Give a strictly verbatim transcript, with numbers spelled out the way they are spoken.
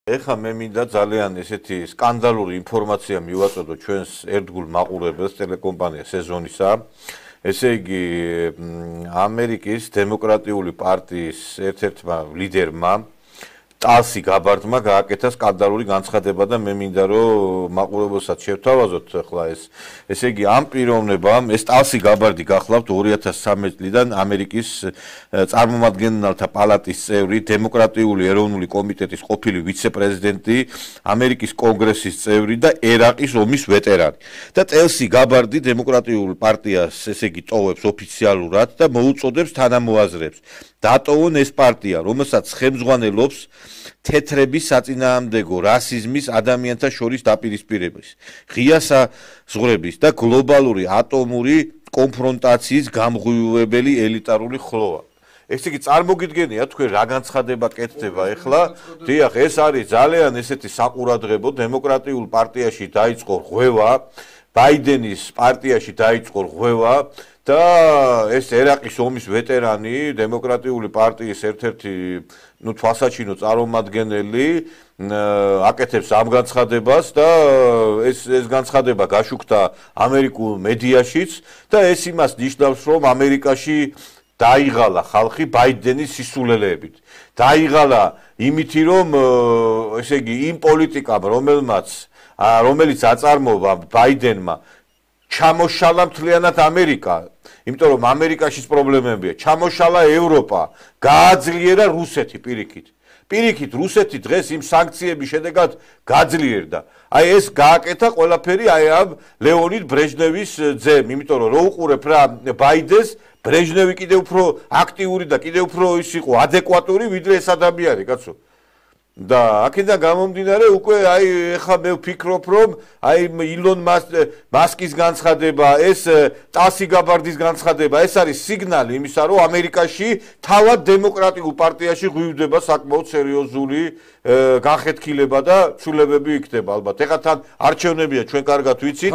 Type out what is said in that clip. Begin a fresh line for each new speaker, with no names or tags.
ეხლა მე მინდა ძალიან ესეთი სკანდალური ინფორმაცია მივაწოდო ჩვენს ერთგულ მაყურებელს ტელეკომპანია სეზონისა. ესე იგი ამერიკის დემოკრატიული პარტიის ერთ-ერთმა ლიდერმა ტალსი გაბარდმა გააკეთა სკანდალური განცხადება და მე მინდა რომ მაყურებელსაც შევთავაზოთ ახლა ეს ესე იგი ამ პიროვნებამ ეს ტალსი გაბარდი გახლავთ ორი ათას ცხრამეტი წლიდან ამერიკის წარმომადგენელთა პალატის წევრი, დემოკრატიული ეროვნული კომიტეტის ყოფილი ვიცე-პრეზიდენტი, ამერიკის კონგრესის წევრი და ერაყის ომის ვეტერანი. და ტალსი გაბარდი დემოკრატიულ პარტიას ესე იგი ტოვებს ოფიციალურად და მოუწოდებს თანამოაზრეებს დატოვონ ეს პარტია, რომელსაც ხელმძღვანელობს თეთრების საწინააღმდეგო რასიზმის, ადამიანთა შორის დაპირისპირების, ღია საზღვრების და გლობალური ატომური კონფრონტაციის გამღვივებელი ელიტარული ხლოვა. ეს იგი წარმოგიდგენია თქვენ რა განცხადება კეთდება ეხლა? დიახ, ეს არის ძალიან ესეთი საყურადღებო დემოკრატიულ პარტიაში დაიწყო ღვევა, ბაიდენის პარტიაში დაიწყო ღვევა და ეს ერაყის ომის ვეტერანი, დემოკრატიული პარტიის ერთ-ერთი ნუ თვალსაჩინო წარმომადგენელი აკეთებს ამ განცხადებას და ეს ეს განცხადება გაშუქდა ამერიკულ მედიაშიც და ეს იმას ნიშნავს, რომ ამერიკაში დაიღალა ხალხი ბაიდენის სისულელეებით. დაიღალა იმითი, რომ ესე იგი იმ პოლიტიკამ, რომელმაც რომელიც აწარმოა ბაიდენმა ჩამოშალა მთლიანად ამერიკა, იმიტომ რომ ამერიკაშიც პრობლემებია, ჩამოშალა ევროპა, გააძლიერა რუსეთი პირიქით. პირიქით რუსეთი დღეს იმ სანქციების შედეგად გაძლიერდა. აი ეს გააკეთა ყველაფერი აი ამ ლეონიდ ბრეჟნევის ძემ, იმიტომ რომ რო უყურებ რა ბაიდენს, ბრეჟნევი კიდევ უფრო აქტიური და კიდევ უფრო ის იყო ადეკვატური, ვიდრე ეს ადამიანი, კაცო. და აქედან გამომდინარე უკვე აი ეხლა მე ვფიქრობ რომ აი ილონ მასკის განცხადება, ეს ტალსი გაბარდის განცხადება, ეს არის სიგნალი იმისა, რომ ამერიკაში თავად დემოკრატიულ პარტიაში ღვივდება საკმაოდ სერიოზული განხეთქილება და ცვლილებები იქნება ალბათ. ეხლა თან არჩევნებია, ჩვენ კარგად ვიცით.